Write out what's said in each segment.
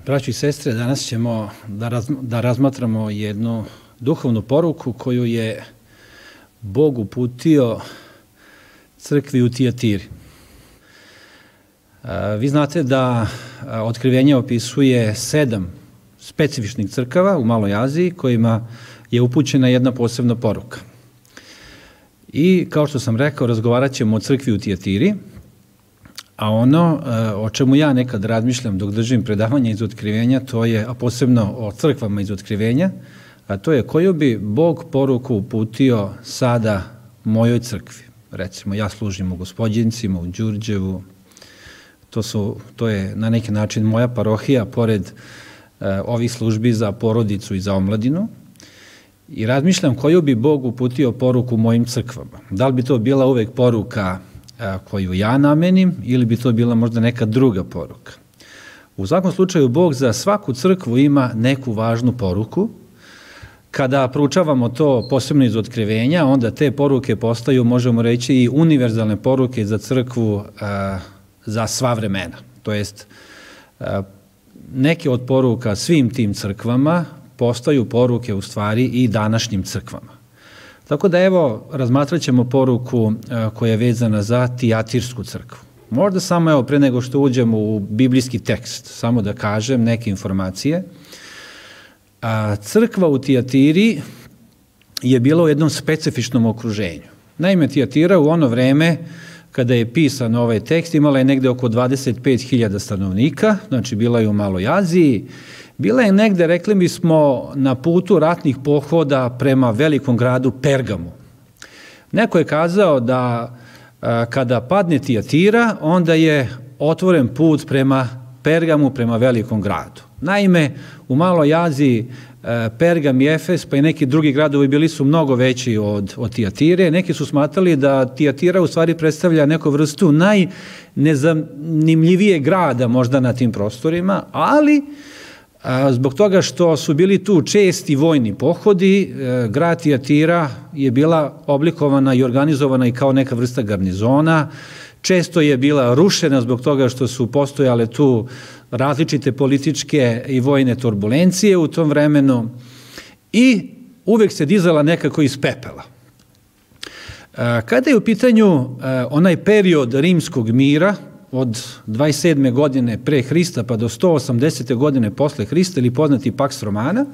Braćo i sestre, danas ćemo da razmatramo jednu duhovnu poruku koju je Bog uputio crkvi u Tijatiri. Vi znate da Otkrivenje opisuje 7 specifičnih crkava u Maloj Aziji kojima je upućena jedna posebna poruka. I kao što sam rekao, razgovarat ćemo o crkvi u Tijatiri, a ono o čemu ja nekad razmišljam dok držim predavanje iz Otkrivenja, to je, a posebno o crkvama iz Otkrivenja, a to je koju bi Bog poruku uputio sada mojoj crkvi. Recimo, ja služim u Gospođincima, u Đurđevu, to je na neki način moja parohija, pored ovih službi za porodicu i za omladinu, i razmišljam koju bi Bog uputio poruku mojim crkvama. Da li bi to bila uvek poruka koju ja namenim ili bi to bila možda neka druga poruka. U svakom slučaju, Bog za svaku crkvu ima neku važnu poruku. Kada proučavamo to posebno iz Otkrivenja, onda te poruke postaju, možemo reći, i univerzalne poruke za crkvu za sva vremena. To jest, neke od poruka svim tim crkvama postaju poruke u stvari i današnjim crkvama. Tako da evo, razmatrat ćemo poruku koja je vezana za Tijatirsku crkvu. Možda samo evo, pre nego što uđemo u biblijski tekst, samo da kažem neke informacije. Crkva u Tijatiri je bila u jednom specifičnom okruženju. Naime, Tijatira u ono vreme kada je pisan ovaj tekst imala je negde oko 25.000 stanovnika, znači bila je u Maloj Aziji. Bila je negde, rekli bismo, na putu ratnih pohoda prema velikom gradu Pergamu. Neko je kazao da kada padne Tijatira, onda je otvoren put prema Pergamu, prema velikom gradu. Naime, u Maloj Aziji Pergam i Efes, pa i neki drugi gradovi bili su mnogo veći od Tijatire. Neki su smatrali da Tijatira u stvari predstavlja neku vrstu najnezanimljivije grada možda na tim prostorima, ali zbog toga što su bili tu česti vojni pohodi, grad Tijatira je bila oblikovana i organizovana i kao neka vrsta garnizona. Često je bila rušena zbog toga što su postojale tu različite političke i vojne turbulencije u tom vremenu i uvek se dizala nekako iz pepela. Kada je u pitanju onaj period rimskog mira, od 27. godine pre Hrista pa do 180. godine posle Hrista, ili poznati Pax Romana,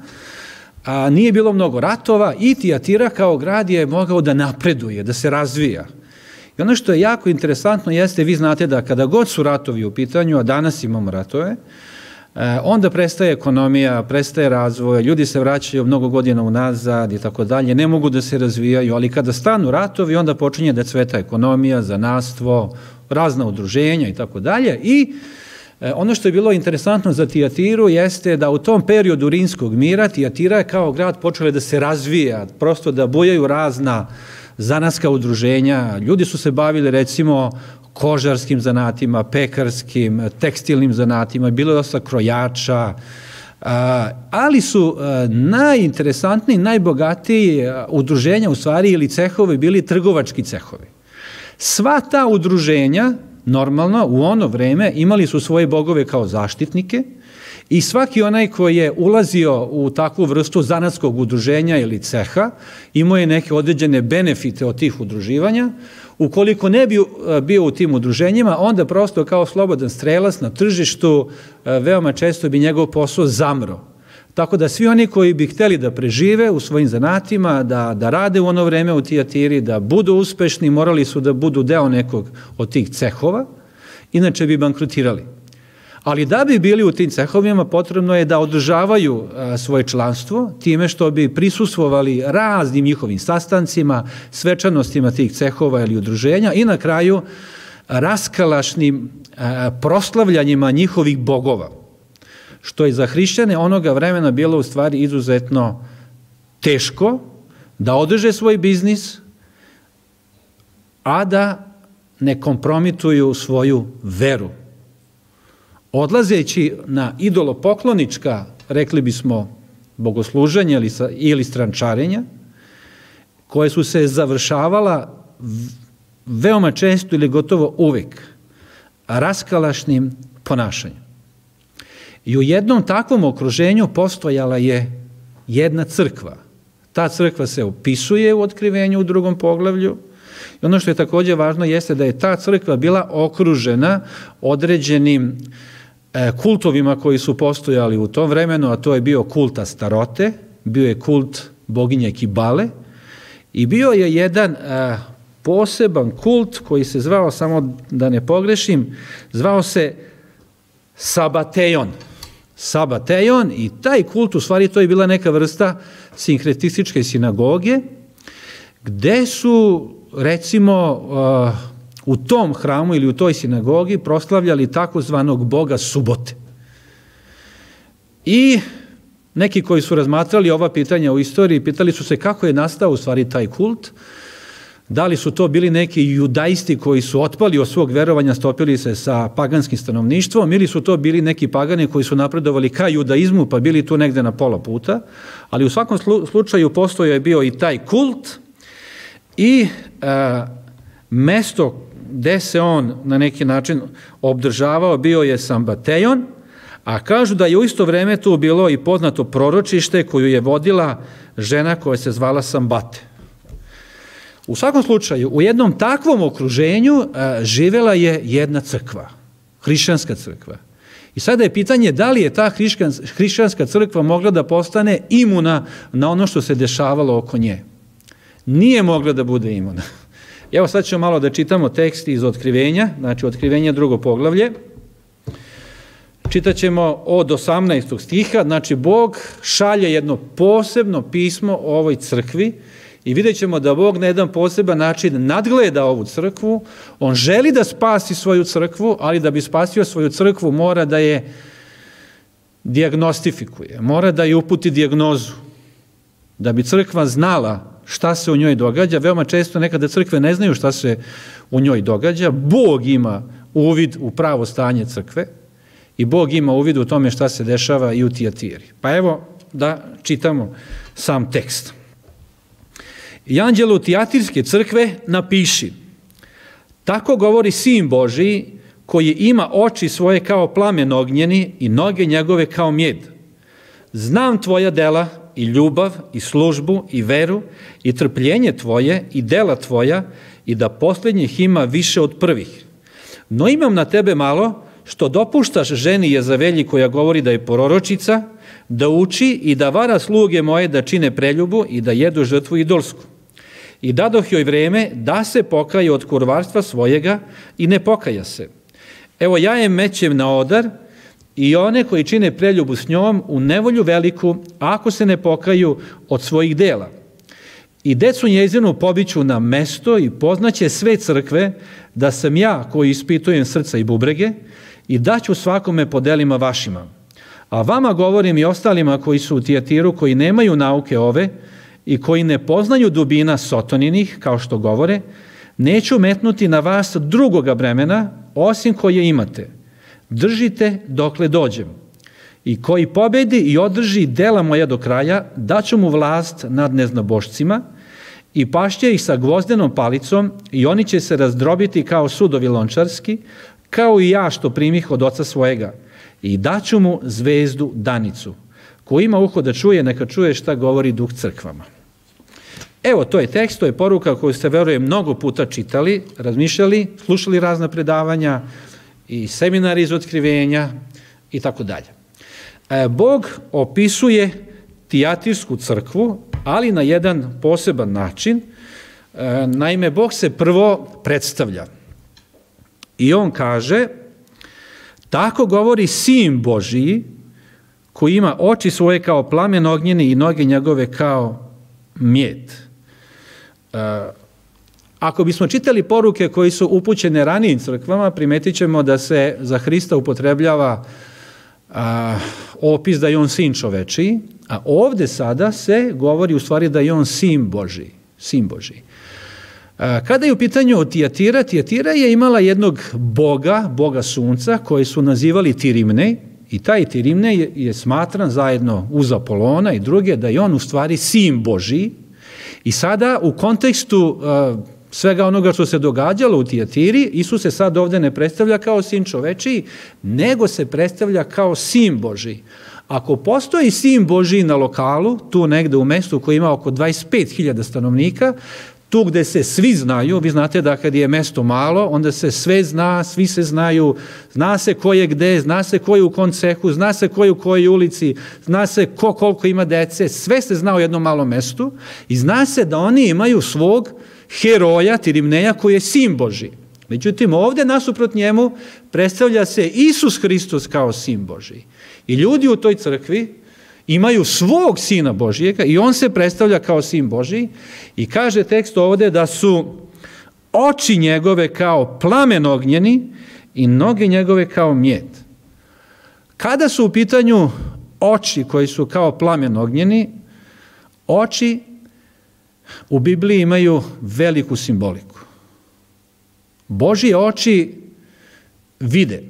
nije bilo mnogo ratova i Tijatira kao grad je mogao da napreduje, da se razvija. I ono što je jako interesantno jeste, vi znate da kada god su ratovi u pitanju, a danas imamo ratove, onda prestaje ekonomija, prestaje razvoj, ljudi se vraćaju mnogo godina unazad i tako dalje, ne mogu da se razvijaju, ali kada stanu ratovi, onda počinje da cveta ekonomija, zanatstvo, razna udruženja i tako dalje. I ono što je bilo interesantno za Tijatiru jeste da u tom periodu rimskog mira Tijatira je kao grad počela da se razvija, prosto da bujaju razna zanatska udruženja. Ljudi su se bavili recimo kožarskim zanatima, pekarskim, tekstilnim zanatima, bilo je dosta krojača, ali su najinteresantniji, najbogatiji udruženja u stvari ili cehovi bili trgovački cehovi. Sva ta udruženja, normalno, u ono vreme imali su svoje bogove kao zaštitnike i svaki onaj koji je ulazio u takvu vrstu zanatskog udruženja ili ceha imao je neke određene benefite od tih udruživanja. Ukoliko ne bi bio u tim udruženjima, onda prosto kao slobodan strelac na tržištu veoma često bi njegov posao zamro. Tako da svi oni koji bi hteli da prežive u svojim zanatima, da rade u ono vreme u Tijatiri, da budu uspešni, morali su da budu deo nekog od tih cehova, inače bi bankrotirali. Ali da bi bili u tim cehovima, potrebno je da održavaju svoje članstvo time što bi prisustvovali raznim njihovim sastancima, svečanostima tih cehova ili udruženja i na kraju raskalašnim proslavljanjima njihovih bogova, što je za hrišćane onoga vremena bilo u stvari izuzetno teško da održe svoj biznis, a da ne kompromituju svoju veru. Odlazeći na idolopoklonička, rekli bismo, bogosluženja ili strančarenja, koje su se završavala veoma često ili gotovo uvek raskalašnim ponašanjem. I u jednom takvom okruženju postojala je jedna crkva. Ta crkva se opisuje u Otkrivenju u 2. poglavlju. I ono što je također važno jeste da je ta crkva bila okružena određenim kultovima koji su postojali u tom vremenu, a to je bio kult Astarote, bio je kult boginje Kibale i bio je jedan poseban kult koji se zvao, samo da ne pogrešim, zvao se Sabatejon. Sabatejon i taj kult, u stvari to je bila neka vrsta sinkretističke sinagoge, gde su, recimo, u tom hramu ili u toj sinagogi proslavljali takozvanog boga subote. I neki koji su razmatrali ova pitanja u istoriji, pitali su se kako je nastao u stvari taj kult, da li su to bili neki judaisti koji su otpali od svog verovanja, stopili se sa paganskim stanovništvom, ili su to bili neki pagani koji su napredovali ka judaizmu pa bili tu negde na pola puta, ali u svakom slučaju postojao je bio i taj kult i mesto gde se on na neki način obdržavao bio je Sambatejon, a kažu da je u isto vreme tu bilo i poznato proročište koju je vodila žena koja se zvala Sambate. U svakom slučaju, u jednom takvom okruženju živela je jedna crkva, hrišćanska crkva. I sada je pitanje da li je ta hrišćanska crkva mogla da postane imuna na ono što se dešavalo oko nje. Nije mogla da bude imuna. Evo sad ćemo malo da čitamo tekst iz Otkrivenja, znači Otkrivenja 2. poglavlje. Čitat ćemo od 18. stiha, znači Bog šalje jedno posebno pismo ovoj crkvi i vidjet ćemo da Bog na jedan poseban način nadgleda ovu crkvu. On želi da spasi svoju crkvu, ali da bi spasio svoju crkvu mora da je dijagnostifikuje, mora da je uputi dijagnozu, da bi crkva znala šta se u njoj događa. Veoma često nekada crkve ne znaju šta se u njoj događa. Bog ima uvid u pravo stanje crkve i Bog ima uvid u tome šta se dešava i u Tijatiri. Pa evo da čitamo sam tekst. I anđelu Tijatirske crkve napiši: tako govori Sin Božiji, koji ima oči svoje kao plamen ognjeni i noge njegove kao mjed. Znam tvoja dela i ljubav i službu i veru i trpljenje tvoje i dela tvoja i da posljednjih ima više od prvih. No imam na tebe malo što dopuštaš ženi Jezavelji koja govori da je proročica, da uči i da vara sluge moje da čine preljubu i da jedu žrtvu idolsku. I dadoh joj vreme da se pokaje od kurvarstva svojega i ne pokaja se. Evo ja je mećem na odar i one koji čine preljubu s njom u nevolju veliku, ako se ne pokaju od svojih dela. I decu njezinu pobiću na mesto i poznaće sve crkve da sam ja koji ispitujem srca i bubrege i daću svakome po delima vašima. A vama govorim i ostalima koji su u Tijatiru, koji nemaju nauke ove i koji ne poznaju dubina Sotoninih, kao što govore, neću metnuti na vas drugoga bremena, osim koje imate. Držite dokle dođem. I koji pobedi i održi dela moja do kraja, daću mu vlast nad neznabošcima i pašće ih sa gvozdenom palicom i oni će se razdrobiti kao sudovi lončarski, kao i ja što primih od oca svojega. I daću mu zvezdu danicu. Ko ima uho da čuje, neka čuje šta govori Duh crkvama. Evo, to je tekst, to je poruka koju ste, verujem, mnogo puta čitali, razmišljali, slušali razna predavanja i seminari iz Otkrivenja i tako dalje. Bog opisuje Tijatirsku crkvu, ali na jedan poseban način. Naime, Bog se prvo predstavlja i on kaže: tako govori Sin Božiji, koji ima oči svoje kao plamen ognjeni i noge njegove kao mjed. Ako bismo čitali poruke koji su upućene ranijim crkvama, primetit ćemo da se za Hrista upotrebljava opis da je on sin čovečiji, a ovde sada se govori u stvari da je on sin Božiji. Sin Božiji. Kada je u pitanju Tijatira, Tijatira je imala jednog boga sunca, koji su nazivali Tirimnej, i taj Tirimnej je smatran zajedno uz Apolona i druge da je on u stvari sin Božiji. I sada u kontekstu svega onoga što se događalo u Tijatiri, Isus se sad ovdje ne predstavlja kao sin čovečiji, nego se predstavlja kao sin Božji. Ako postoji sin Božji na lokalu, tu negde u mestu koji ima oko 25.000 stanovnika, tu gde se svi znaju, vi znate da kad je mesto malo, onda se sve zna, svi se znaju, zna se ko je gde, zna se ko je u kom cehu, zna se ko je u kojoj ulici, zna se ko koliko ima dece, sve se zna u jednom malom mestu i zna se da oni imaju svog heroja, Tirimneja, koji je sin Božji. Međutim, ovdje nasuprot njemu predstavlja se Isus Hristos kao sin Božji. I ljudi u toj crkvi imaju svog sina Božjega i on se predstavlja kao sin Božji i kaže tekst ovdje da su oči njegove kao plamen ognjeni i noge njegove kao mjed. Kada su u pitanju oči koji su kao plamen ognjeni, oči u Bibliji imaju veliku simboliku. Božje oči vide.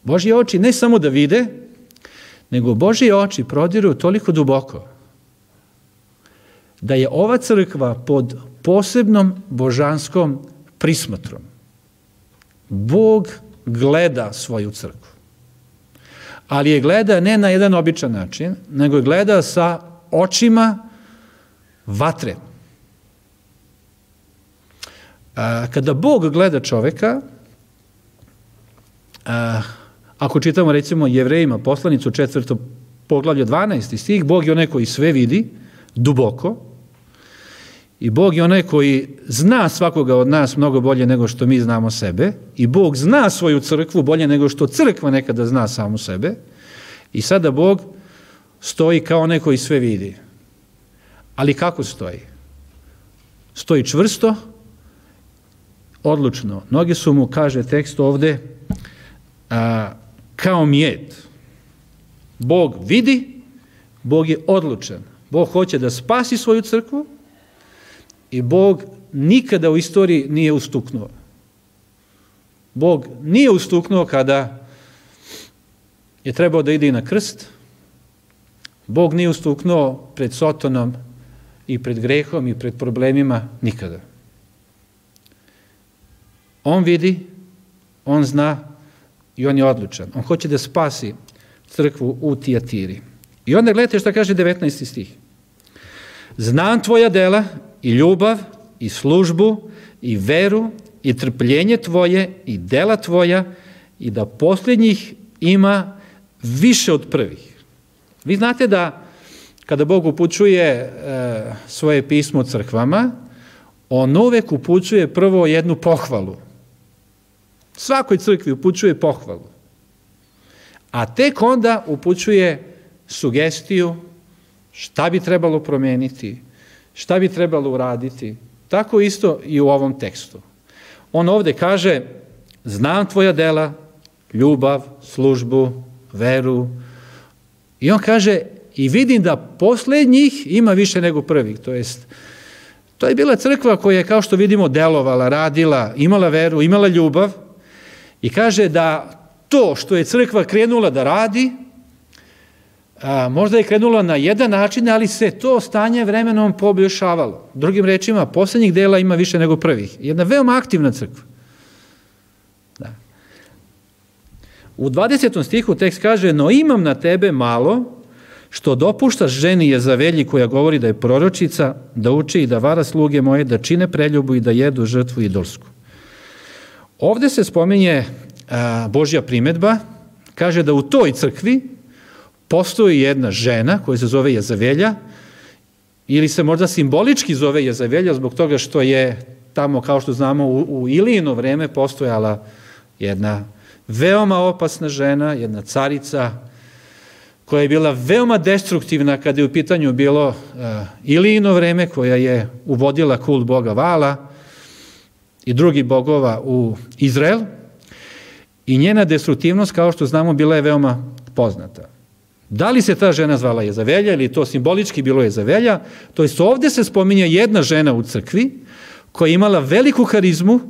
Božje oči ne samo da vide, nego Božje oči prodiru toliko duboko da je ova crkva pod posebnom božanskom prismotrom. Bog gleda svoju crkvu. Ali je gleda ne na jedan običan način, nego je gleda sa očima vatre. Kada Bog gleda čoveka, ako čitamo recimo Jevrejima poslanicu 4. poglavlje 12. stih, Bog je onaj koji sve vidi duboko i Bog je onaj koji zna svakoga od nas mnogo bolje nego što mi znamo sebe i Bog zna svoju crkvu bolje nego što crkva nekada zna samu sebe i sada Bog stoji kao onaj koji sve vidi. Ali kako stoji? Stoji čvrsto, odlučno. Noge su mu, kaže tekst ovde, kao mjed. Bog vidi, Bog je odlučan. Bog hoće da spasi svoju crkvu i Bog nikada u istoriji nije ustuknuo. Bog nije ustuknuo kada je trebao da ide i na krst. Bog nije ustuknuo pred Sotonom i pred grehom i pred problemima nikada. On vidi, on zna i on je odlučan. On hoće da spasi crkvu u Tijatiri. I onda gledajte šta kaže 19. stih. Znam tvoja dela i ljubav i službu i veru i trpljenje tvoje i dela tvoja i da posljednjih ima više od prvih. Vi znate da kada Bog upućuje svoje pismo crkvama, on uvek upućuje prvo jednu pohvalu. Svakoj crkvi upućuje pohvalu. A tek onda upućuje sugestiju šta bi trebalo promeniti, šta bi trebalo uraditi. Tako isto i u ovom tekstu. On ovdje kaže, znam tvoja dela, ljubav, službu, veru. I on kaže, i vidim da posljednjih ima više nego prvih. To je bila crkva koja je, kao što vidimo, delovala, radila, imala veru, imala ljubav. I kaže da to što je crkva krenula da radi, možda je krenula na jedan način, ali se to stanje vremenom poboljšavalo. Drugim rečima, posljednjih dela ima više nego prvih. Jedna veoma aktivna crkva. Da. U 20. stihu tekst kaže, no imam na tebe malo što dopuštaš ženi Jezavelji koja govori da je proročica, da uči i da vara sluge moje, da čine preljubu i da jedu žrtvu idolsku. Ovdje se spominje Božja primedba, kaže da u toj crkvi postoji jedna žena koja se zove Jezavelja, ili se možda simbolički zove Jezavelja zbog toga što je tamo, kao što znamo, u Ilijino vreme postojala jedna veoma opasna žena, jedna carica koja je bila veoma destruktivna kada je u pitanju bilo Ilijino vreme, koja je uvodila kult boga Vala i drugih bogova u Izrael. I njena destruktivnost, kao što znamo, bila je veoma poznata. Da li se ta žena zvala Jezavelja ili to simbolički bilo Jezavelja, to jest ovdje se spominje jedna žena u crkvi koja je imala veliku harizmu,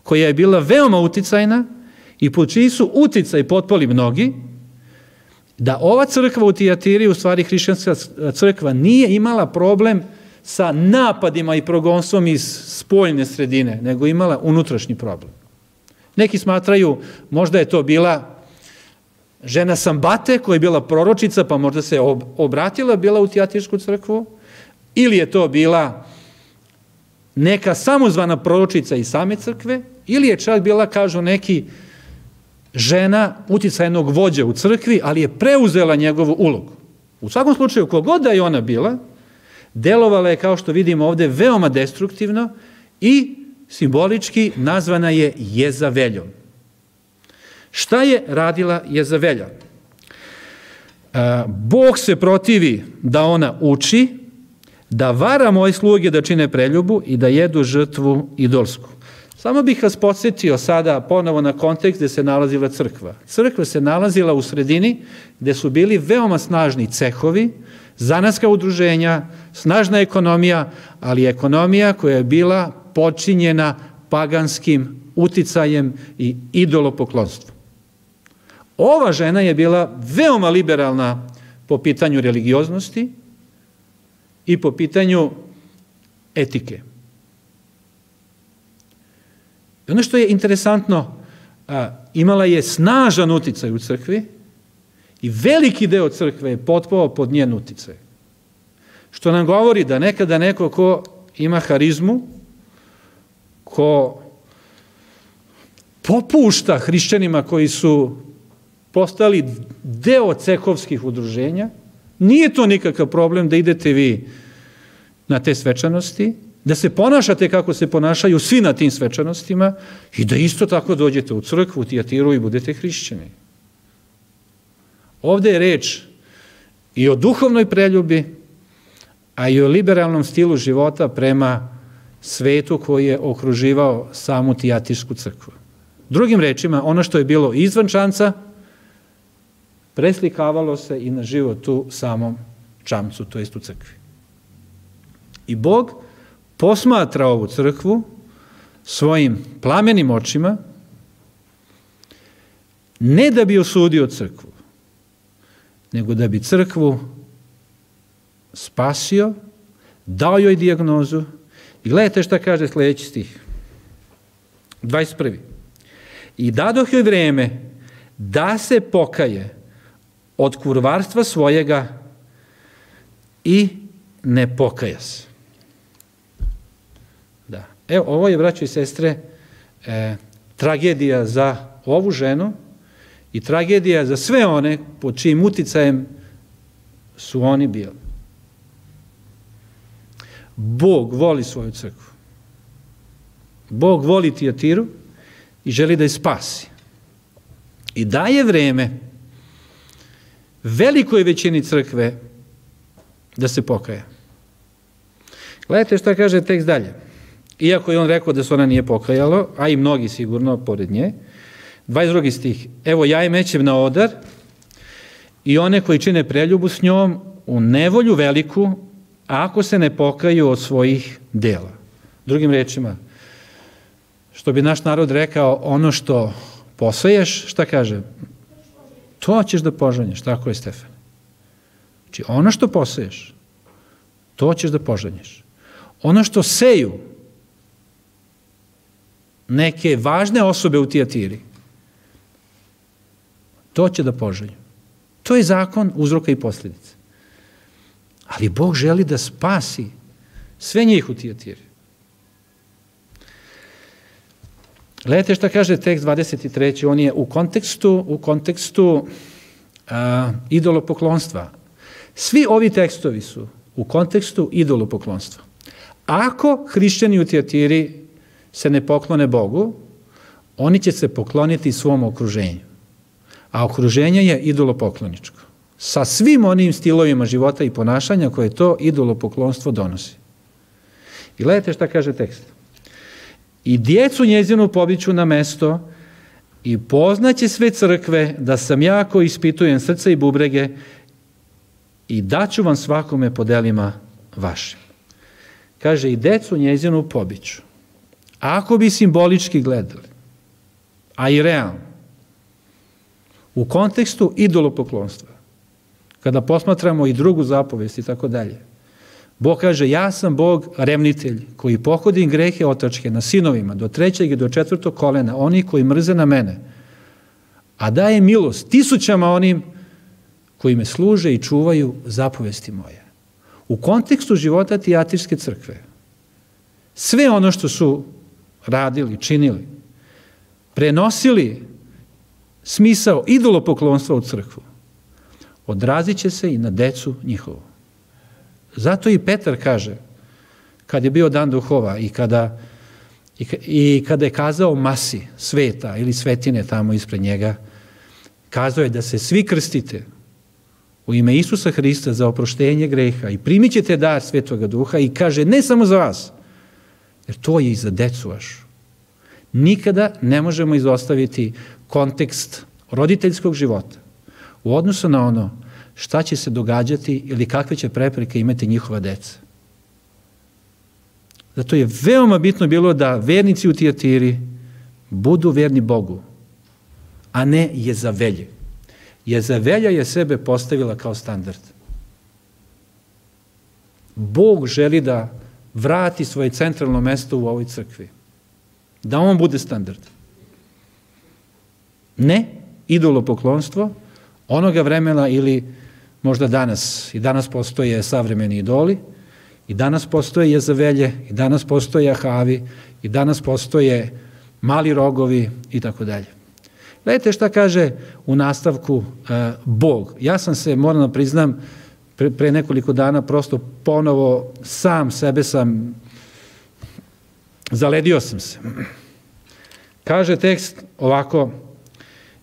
koja je bila veoma uticajna i pod čiji su uticaj potpali mnogi, da ova crkva u Tijatiri, u stvari hrišćanska crkva, nije imala problem sa napadima i progonstvom iz spoljne sredine, nego imala unutrašnji problem. Neki smatraju, možda je to bila žena Sambate, koja je bila proročica, pa možda se obratila, bila u Tijatirsku crkvu, ili je to bila neka samozvana proročica iz same crkve, ili je čak bila, kažu neki, žena uticajnog vođa u crkvi, ali je preuzela njegovu ulogu. U svakom slučaju, kogod da je ona bila, delovala je, kao što vidimo ovde, veoma destruktivno i simbolički nazvana je Jezaveljom. Šta je radila Jezavelja? Bog se protivi da ona uči, da vara moje sluge da čine preljubu i da jedu žrtvu idolsku. Samo bih vas podsjetio sada ponovo na kontekst gde se nalazila crkva. Crkva se nalazila u sredini gde su bili veoma snažni cehovi, zanatska udruženja, snažna ekonomija, ali ekonomija koja je bila počinjena paganskim uticajem i idolopoklonstvom. Ova žena je bila veoma liberalna po pitanju religioznosti i po pitanju etike. I ono što je interesantno, imala je snažan uticaj u crkvi i veliki deo crkve je potpao pod njen uticaj. Što nam govori da nekada neko ko ima harizmu, ko popušta hrišćanima koji su postali deo cehovskih udruženja, nije to nikakav problem da idete vi na te svečanosti, da se ponašate kako se ponašaju svi na tim svečanostima i da isto tako dođete u crkvu, u Tijatiru i budete hrišćani. Ovde je reč i o duhovnoj preljubi, a i o liberalnom stilu života prema svetu koji je okruživao samu Tijatirsku crkvu. Drugim rečima, ono što je bilo izvan čamca, preslikavalo se i na život u samom čamcu, to jest u crkvi. I Bog posmatra ovu crkvu svojim plamenim očima, ne da bi osudio crkvu, nego da bi crkvu spasio, dao joj dijagnozu. I gledajte šta kaže sljedeći stih. 21. I dadoh joj vreme da se pokaje od kurvarstva svojega i ne pokaja se. Da. Evo, ovo je, braćo i sestre, tragedija za ovu ženu i tragedija za sve one pod čijim uticajem su oni bili. Bog voli svoju crkvu. Bog voli Tijatiru i želi da je spasi. I daje vreme velikoj većini crkve da se pokaja. Gledajte šta kaže tekst dalje. Iako je on rekao da se ona nije pokajalo, a i mnogi sigurno pored nje, 22. stih. Evo ja je mećem na odar i one koji čine preljubu s njom u nevolju veliku, ako se ne pokaju od svojih dela. Drugim rečima, što bi naš narod rekao, ono što poseješ, šta kaže? To ćeš da požanješ, tako je, Stefane. Znači, ono što poseješ, to ćeš da požanješ. Ono što seju neke važne osobe u Tijatiri, to će da požanju. To je zakon uzroka i posljedice. Ali Bog želi da spasi sve njih u Tijatiri. Gledajte šta kaže tekst 23. On je u kontekstu idolopoklonstva. Svi ovi tekstovi su u kontekstu idolopoklonstva. Ako hrišćani u Tijatiri se ne poklone Bogu, oni će se pokloniti svom okruženju. A okruženje je idolopokloničko. Sa svim onim stilovima života i ponašanja koje to idolopoklonstvo donosi. I gledajte šta kaže tekst. I djecu njezinu pobiću na mesto i poznaće sve crkve da sam ja koji ispitujem srce i bubrege i daću vam svakome po delima vašim. Kaže, i decu njezinu pobiću. Ako bi simbolički gledali, a i realno, u kontekstu idolopoklonstva, kada posmatramo i drugu zapovest i tako dalje, Bog kaže, ja sam Bog revnitelj koji pohodim grehe otačke na sinovima do 3. i do 4. kolena, oni koji mrze na mene, a daje milost tisućama onim koji me služe i čuvaju zapovesti moje. U kontekstu života Tijatirske crkve, sve ono što su radili, činili, prenosili smisao idolopoklonstva u crkvu, odrazit će se i na decu njihovu. Zato i Petar kaže, kad je bio dan duhova i kada je kazao masi sveta ili svetine tamo ispred njega, kazao je da se svi krstite u ime Isusa Hrista za oproštenje greha i primit ćete dar Svetoga Duha i kaže ne samo za vas, jer to je i za decu vašu. Nikada ne možemo izostaviti kontekst roditeljskog života u odnosu na ono šta će se događati ili kakve će prepreke imati njihova deca. Zato je veoma bitno bilo da vernici u Tijatiri budu verni Bogu, a ne Jezavelje. Jezavelja je sebe postavila kao standard. Bog želi da vrati svoje centralno mesto u ovoj crkvi. Da on bude standard. Ne idolopoklonstvo onoga vremena ili možda danas. I danas postoje savremeni idoli, i danas postoje Jezavelje, i danas postoje Ahavi, i danas postoje mali rogovi i tako dalje. Gledajte šta kaže u nastavku Bog. Ja sam se, moram da priznam, pre nekoliko dana prosto ponovo sam sebe sam, zaledio sam se. Kaže tekst ovako,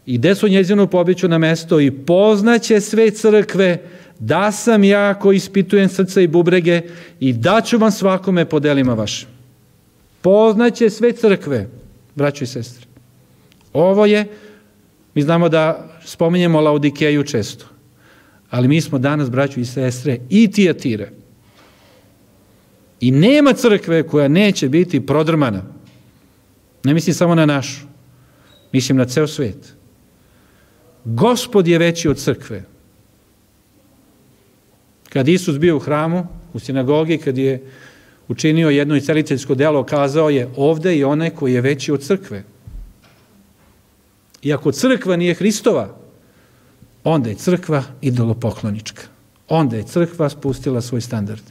i decu njezinu pobiću na mesto i poznaće sve crkve da sam ja koji ispitujem srca i bubrege i daću vam svakome po delima vašim. Poznaće sve crkve, braćo i sestre. Ovo je, mi znamo da spominjemo Laodikeju često, ali mi smo danas, braćo i sestre, i Tijatire. I nema crkve koja neće biti prodrmana. Ne mislim samo na našu, mislim na ceo svet. Gospod je veći od crkve. Kad Isus bio u hramu, u sinagogi, kad je učinio jedno isceliteljsko delo, kazao je ovde i onaj koji je veći od crkve. I ako crkva nije Hristova, onda je crkva idolopoklonička. Onda je crkva spustila svoj standard.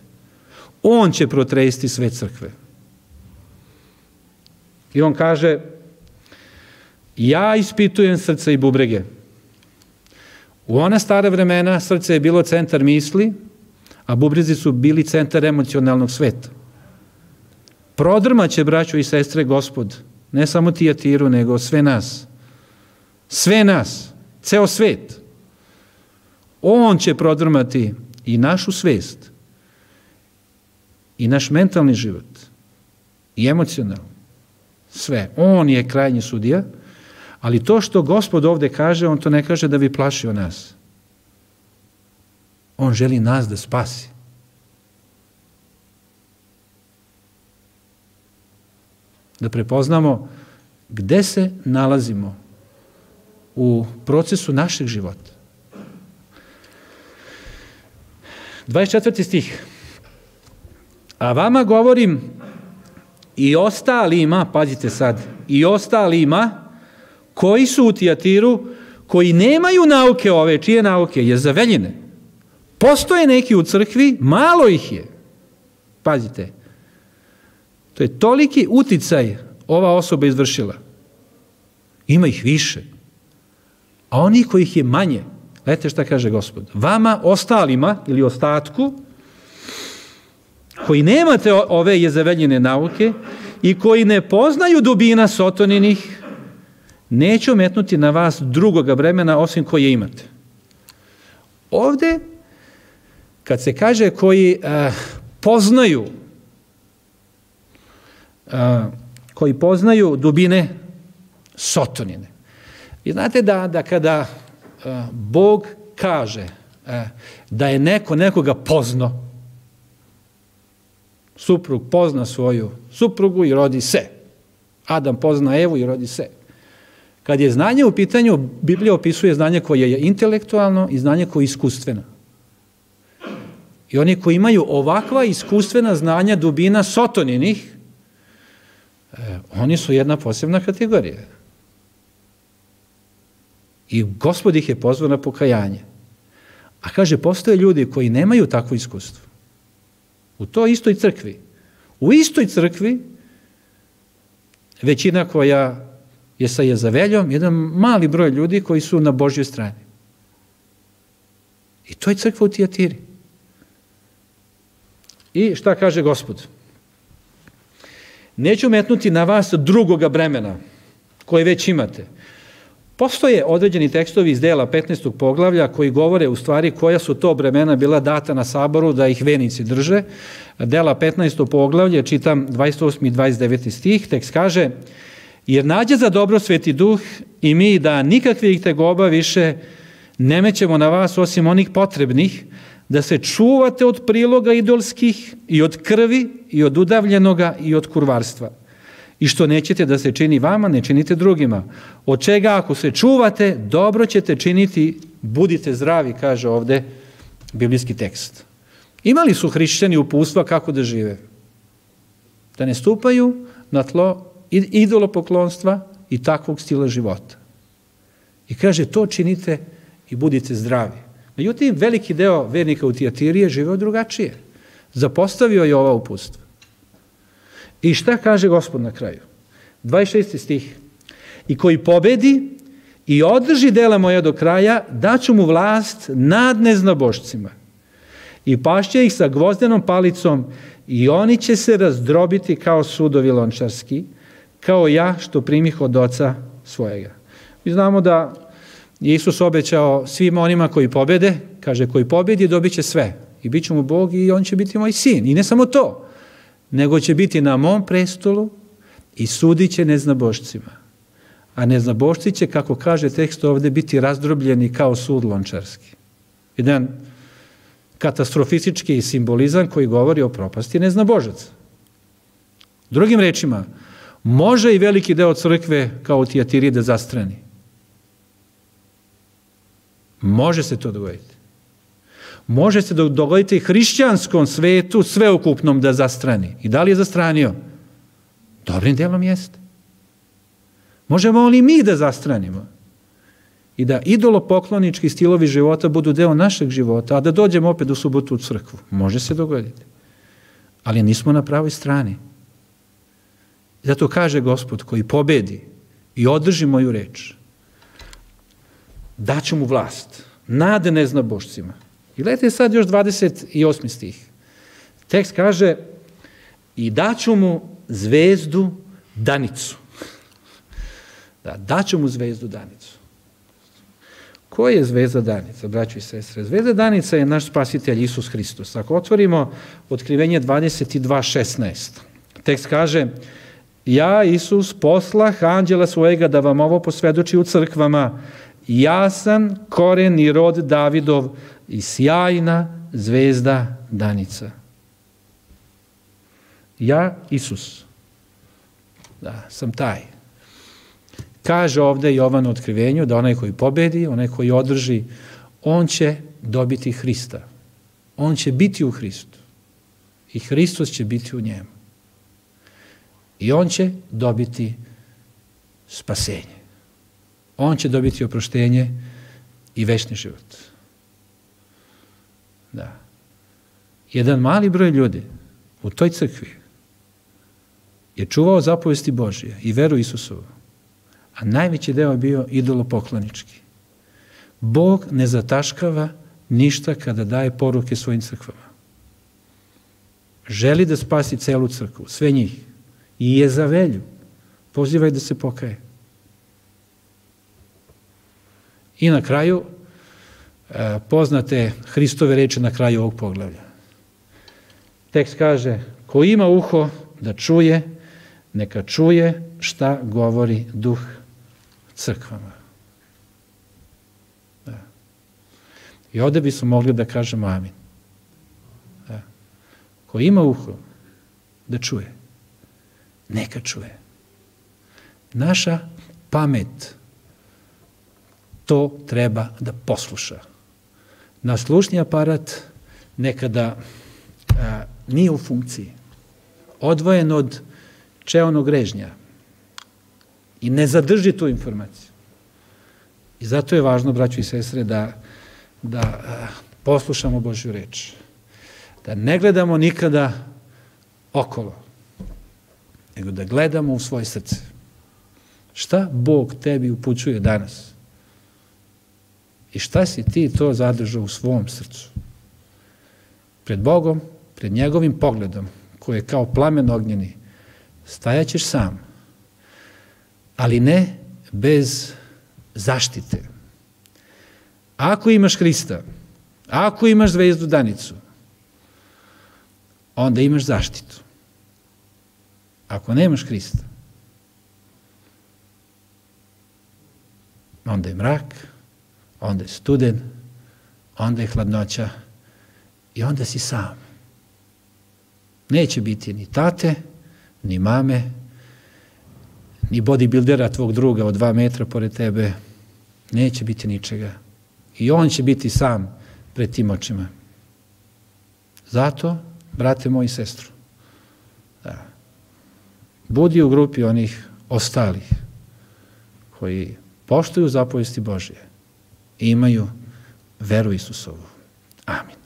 On će protresti sve crkve. I on kaže, ja ispitujem srca i bubrege. U ona stara vremena srce je bilo centar misli, a bubrezi su bili centar emocionalnog sveta. Prodrmaće, braćo i sestre, Gospod, ne samo Tijatiru, nego sve nas. Sve nas, ceo svet. On će prodrmati i našu svest, i naš mentalni život, i emocionalno. Sve. On je krajnji sudija, ali to što Gospod ovde kaže, on to ne kaže da bi plašio nas. On želi nas da spasi. Da prepoznamo gde se nalazimo u procesu našeg života. 24. stih. A vama govorim i ostalima, pazite sad, i ostalima koji su u Tijatiru, koji nemaju nauke ove, čije nauke? Jezaveljine. Postoje neki u crkvi, malo ih je. Pazite, to je toliki uticaj ova osoba izvršila. Ima ih više. A oni kojih je manje, gledajte šta kaže Gospod, vama ostalima ili ostatku, koji nemate ove jezaveljine nauke i koji ne poznaju dubina sotoninih, neću metnuti na vas drugoga vremena osim koje imate. Ovde, kad se kaže koji poznaju dubine sotonine. Vi znate da kada Bog kaže da je neko nekoga poznao, suprug pozna svoju suprugu i rodi se. Adam pozna Evu i rodi se. Kad je znanje u pitanju, Biblija opisuje znanje koje je intelektualno i znanje koje je iskustveno. I oni koji imaju ovakva iskustvena znanja dubina sotoninih, oni su jedna posebna kategorija. I Gospod ih je pozvao na pokajanje. A kaže, postoje ljudi koji nemaju takvo iskustvo. U toj istoj crkvi. U istoj crkvi većina koja je sa Jezaveljom, jedan mali broj ljudi koji su na Božjoj strani. I to je crkva u Tijatiri. I šta kaže Gospod? Neću metnuti na vas drugoga bremena koje već imate. Postoje određeni tekstovi iz dela 15. poglavlja koji govore u stvari koja su to bremena bila data na saboru da ih vernici drže. Dela 15. poglavlje, čitam 28. i 29. stih, tekst kaže: jer nađe za dobro Sveti Duh i mi da nikakvih tegoba više ne mećemo na vas osim onih potrebnih, da se čuvate od priloga idolskih i od krvi i od udavljenoga i od kurvarstva. I što nećete da se čini vama, ne činite drugima. Od čega ako se čuvate, dobro ćete činiti, budite zdravi, kaže ovde biblijski tekst. Imali su hrišćani uputstva kako da žive. Da ne stupaju na tlo idolopoklonstva i takvog stila života. I kaže, to činite i budite zdravi. Međutim, veliki deo vernika u Tijatiri je živeo drugačije. Zapostavio je ova uputstva. I šta kaže Gospod na kraju? 26. stih. I koji pobedi i održi dela moja do kraja, daću mu vlast nad neznabošcima. I pašće ih sa gvozdenom palicom i oni će se razdrobiti kao sudovi lončarski, kao ja što primih od oca svojega. Mi znamo da je Isus obećao svima onima koji pobede, kaže, koji pobedi dobit će sve. I bit će mu Bog i on će biti moj sin. I ne samo to, nego će biti na mom prestolu i sudit će neznabošcima. A neznabošci će, kako kaže tekst ovde, biti razdrobljeni kao sud lončarski. Jedan katastrofistički simbolizam koji govori o propasti neznabožaca. Drugim rečima, može i veliki deo crkve kao u Tijatiri da zastrani. Može se to dogoditi. Može se dogoditi hrišćanskom svetu sveukupnom da zastrani. I da li je zastranio? Dobrim delom jeste. Možemo li mi da zastranimo? I da idolopoklonički stilovi života budu deo našeg života, a da dođemo opet u subotu u crkvu. Može se dogoditi. Ali nismo na pravoj strani. Zato kaže Gospod koji pobedi i održi moju reč, daću mu vlast nad neznabošcima. I gledajte sad još 28. stih. Tekst kaže i daću mu zvezdu danicu. Da, daću mu zvezdu danicu. Ko je zvezda danica, braćo i sestre? Zvezda danica je naš spasitelj Isus Hristos. Ako otvorimo Otkrivenje 22.16, tekst kaže ja, Isus, poslah anđela svojega da vam ovo posvedoči u crkvama. Ja sam koren i rod Davidov i sjajna zvezda danica. Ja, Isus, da, sam taj. Kaže ovde Jovan u Otkrivenju da onaj koji pobedi, onaj koji održi, on će dobiti Hrista. On će biti u Hristu. I Hristos će biti u njemu. I on će dobiti spasenje. On će dobiti oproštenje i večni život. Da. Jedan mali broj ljudi u toj crkvi je čuvao zapovesti Božije i veru Isusovu, a najveći deo je bio idolopoklonički. Bog ne zataškava ništa kada daje poruke svojim crkvama. Želi da spasi celu crkvu, sve njih. I Jezavelju pozivaj da se pokaje. I na kraju, poznate Hristove reči na kraju ovog poglavlja. Tekst kaže, ko ima uho da čuje, neka čuje šta govori Duh crkvama. Da. I ovde bismo mogli da kažemo amin. Da. Ko ima uho da čuje, neka čuje. Naša pamet to treba da posluša. Naš slušni aparat nekada nije u funkciji, odvojen od čeonog režnja i ne zadrži tu informaciju. I zato je važno, braćo i sestre, da poslušamo Božju reč, da ne gledamo nikada okolo, nego da gledamo u svoje srce. Šta Bog tebi upućuje danas? I šta si ti to zadržao u svom srcu? Pred Bogom, pred njegovim pogledom, koji je kao plamen ognjeni, stajaćeš sam, ali ne bez zaštite. Ako imaš Hrista, ako imaš zvezdu danicu, onda imaš zaštitu. Ako nemaš Hrista, onda je mrak, onda je studen, onda je hladnoća i onda si sam. Neće biti ni tate, ni mame, ni bodybuildera tvog druga od 2 metra pored tebe. Neće biti ničega. I on će biti sam pred tim očima. Zato, brate moj i sestru, budi u grupi onih ostalih koji poštuju zapovesti Božje i imaju veru Isusovu. Amin.